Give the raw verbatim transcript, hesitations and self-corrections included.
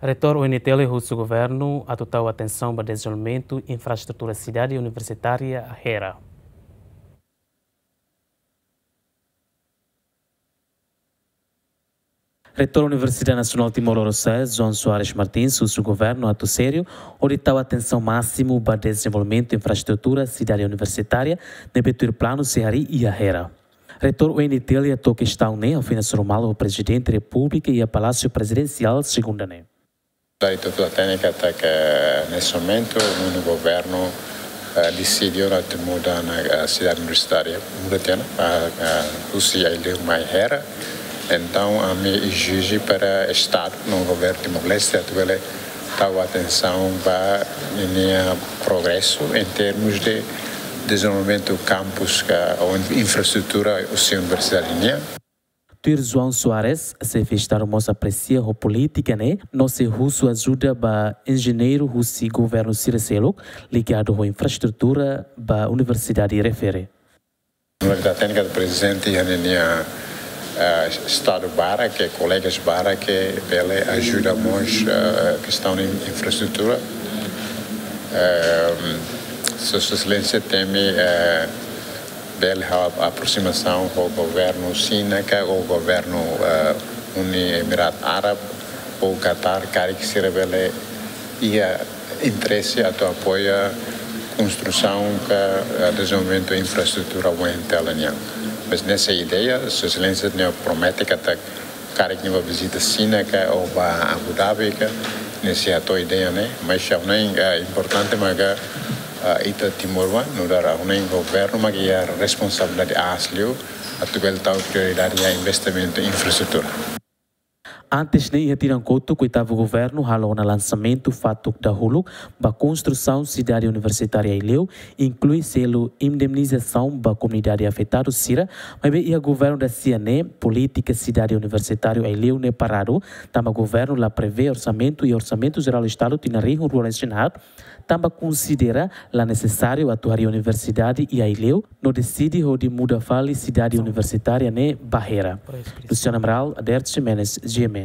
Reitór U N T L husu governu atu tau atensaun ba dezenvolvimentu infraestrutura sidade universitária Hera. Reitór Universidade Nasionál Timor Lorosa'e, João Soares Martins, husu governu atu sériu hodi tau atensaun másimu ba dezenvolvimentu infraestrutura sidade universitária ne'ebé tuir planu sei harii iha Hera. Reitór U N T L hato'o kestaun ne'e iha ofisu formal ho Prezidente Repúblika iha Palásiu Prezidensiál, segunda ne'e. Daí tudo a técnica até que nesse momento o governo eh, decidiu atu muda ona eh, sidade universitária, muda tiha ona, ah, ah, husi Aileu mai Hera. Entaun, ami ezije para Estadu, no governu Timor-Leste, atu bele tau atensaun ba ninia progresu em termos de dezenvolvimentu kampus ka, ou infraestrutura husi universidade nian. Tuir João Soares, Xefe Estadu mós apresia ho polítika ne'e, no sei husu ajuda ba enjeñeiru husi governu sira seluk ligadu ho infraestrutura ba universidade refere. Universidade Téknika do Presidente iha ninia eh, estadu barak, ke kolegas barak ke bele ajuda mós eh, kestaun infraestrutura. Eh, Sua Exelénsia temi eh, bele halo aproximasaun ho governu Xina ka ho governu eh, Uni Emiratu Árabe ou Qatar, karik sira bele iha interese atu apoia konstrusaun ka eh, dezenvolvimentu infraestrutura U N T L nian. Mas ne'e ideia, Sua Exelénsia ne'e promete katak karik nia bá vizita Xina ka ou bá Abu Dhabi ka, nia sei hato'o ideia ne'e, mas ha'u hanoin eh, importante maka eh, ita timoroan, nu'udar ha'u hanoin governu maka iha responsabilidade aas liu, atu bele tau prioridade iha investimentu infraestrutura. Antes ne'e iha tinan kotuk, oitavu governu halo ona lansamentu fatuk dahuluk ba konstrusaun sidade universitária Aileu, inklui selu indemnizasaun ba komunidade afetadu sira, maibé iha governu dasia ne'e polítika sidade universitária Aileu ne'e paradu, tanba governu la prevee orsamentu iha Orsamentu Jerál Estadu tinan rihun rua resin haat, tanba konsidera la nesesáriu atu harii universidade iha Aileu, no deside hodi muda fali sidade universitária ne'e ba Hera. Luciano Amaral, Adert Ximenes, G M N.